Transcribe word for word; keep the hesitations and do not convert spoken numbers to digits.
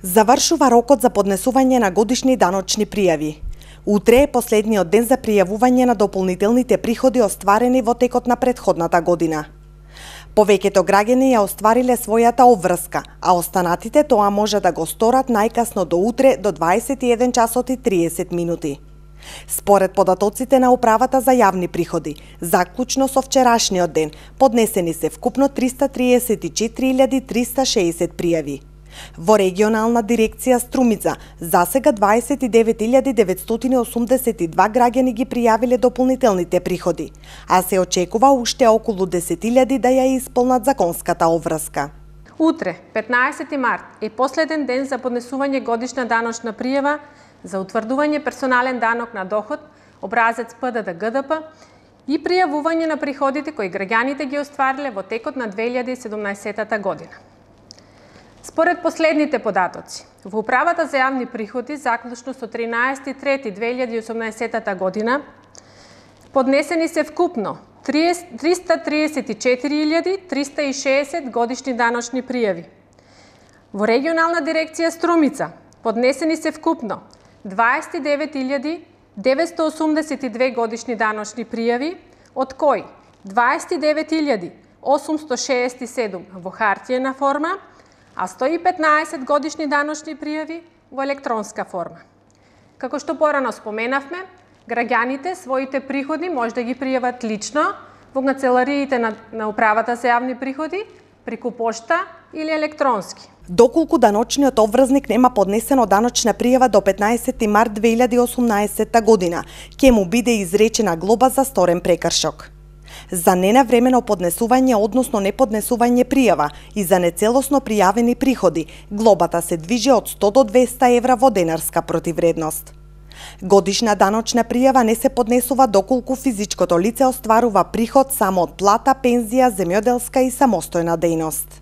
Завршува рокот за поднесување на годишни даночни пријави. Утре е последниот ден за пријавување на дополнителните приходи остварени во текот на претходната година. Повеќето граѓани ја оствариле својата обврска, а останатите тоа може да го сторат најкасно до утре до дваесет и еден часот и триесет минути. Според податоците на Управата за јавни приходи, заклучно со вчерашниот ден, поднесени се вкупно триста триесет и четири илјади триста шеесет пријави. Во регионална дирекција Струмица, засега дваесет и девет илјади деветстотини осумдесет и два граѓани ги пријавиле дополнителните приходи, а се очекува уште околу десет илјади да ја исполнат законската обврска. Утре, петнаесети март, е последен ден за поднесување годишна даночна пријава за утврдување персонален данок на доход, образец П Д Д Г Д П и пријавување на приходите кои граѓаните ги оствариле во текот на две илјади и седумнаесетата година. Според последните податоци, во Управата за јавни приходи, заклучно со тринаесети трети две илјади и осумнаесетата година, поднесени се вкупно триста триесет и четири илјади триста и шеесет годишни даночни пријави. Во регионална дирекција Струмица, поднесени се вкупно дваесет и девет илјади деветстотини осумдесет и две годишни даночни пријави, од кои дваесет и девет илјади осумстотини шеесет и седум во хартиена форма, а сто и петнаесет годишни даночни пријави во електронска форма. Како што порано споменавме, граѓаните своите приходи може да ги пријават лично во канцелариите на, на Управата за јавни приходи, преку пошта или електронски. Доколку даночниот обврзник нема поднесено даночна пријава до петнаесети март две илјади и осумнаесетта година, ќе му биде изречена глоба за сторен прекршок. За ненавремено поднесување, односно неподнесување пријава и за нецелосно пријавени приходи, глобата се движи од сто до двеста евра во денарска противредност. Годишна даночна пријава не се поднесува доколку физичкото лице остварува приход само од плата, пензија, земјоделска и самостојна дејност.